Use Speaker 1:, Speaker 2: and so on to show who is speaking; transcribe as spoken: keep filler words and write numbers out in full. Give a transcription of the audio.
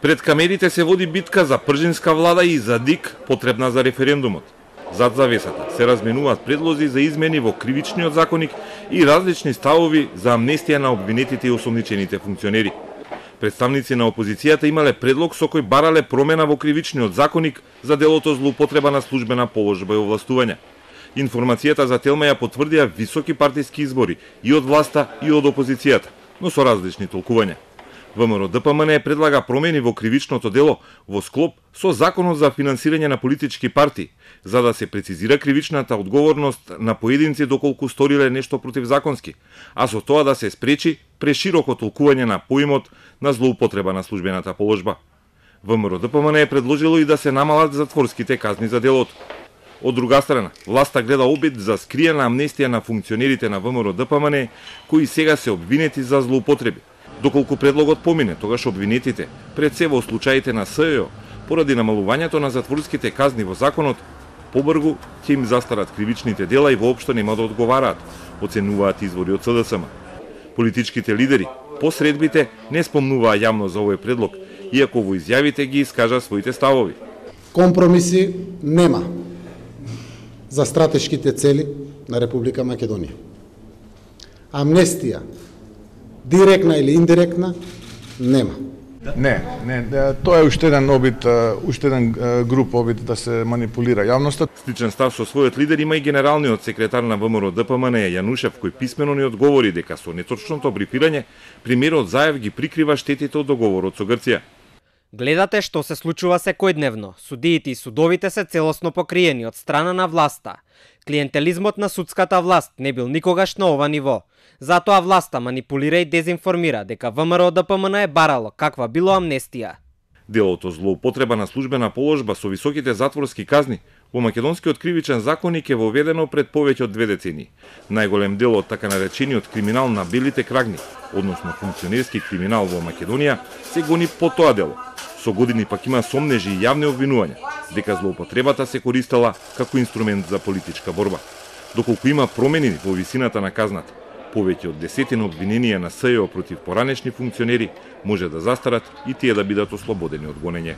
Speaker 1: Пред камерите се води битка за пржинска влада и за ДИК потребна за референдумот. Зад завесата се разменуваат предлози за измени во кривичниот законник и различни ставови за амнестија на обвинетите и осомничените функционери. Представници на опозицијата имале предлог со кој барале промена во кривичниот законник за делото злоупотреба на службена положба и овластување. Информацијата за Телма ја потврдија високи партиски избори и од власта и од опозицијата, но со различни толкувања. ВМРО-ДПМН предлага промени во кривичното дело во склоп со Законот за финансирање на политички партии, за да се прецизира кривичната одговорност на поединци доколку сториле нешто противзаконски, а со тоа да се спречи прешироко толкување на поимот на злоупотреба на службената положба. ВМРО-ДПМН е предложило и да се намалат затворските казни за делото. Од друга страна, власта гледа обид за скриена амнестија на функционерите на ВМРО-ДПМН кои сега се обвинети за злоупотреби. Доколку предлогот помине, тогаш обвинетите, пред се во случаите на СЈО, поради намалувањето на затворските казни во законот, побргу ќе им застарат кривичните дела и воопшто нема да одговараат, оценуваат извори од СДСМ. Политичките лидери по средбите не спомнуваа јавно за овој предлог, иако во изјавите ги искажа своите ставови.
Speaker 2: Компромиси нема за стратешките цели на Република Македонија. Амнестија, директна или индиректна, нема.
Speaker 3: Не, не, тоа е уште еден обид, уште еден груп обид да се манипулира јавноста.
Speaker 1: Сличен став со својот лидер има и генералниот секретар на ВМРО-ДПМН Јанушев, кој писмено ни одговори дека со неточното брифирање премиерот Заев ги прикрива штетите од договорот со Грција.
Speaker 4: Гледате што се случува секојдневно. Судиите и судовите се целосно покриени од страна на власта. Клиентелизмот на судската власт не бил никогаш на ова ниво. Затоа власта манипулира и дезинформира дека ВМРО-ДПМН е барало каква било амнестија.
Speaker 1: Делото злоупотреба на службена положба со високите затворски казни во македонскиот кривичен законник е воведено пред повеќе од две децении. Најголем дел од така наречениот криминал на белите крагни, односно функционерски криминал во Македонија, се гони по тоа дело. Со години пак има сомнежи и јавни обвинувања дека злоупотребата се користела како инструмент за политичка борба. Доколку има промени во висината на казната, повеќе од десетина обвиненија на СЈО против поранешни функционери може да застарат и тие да бидат ослободени од гонење.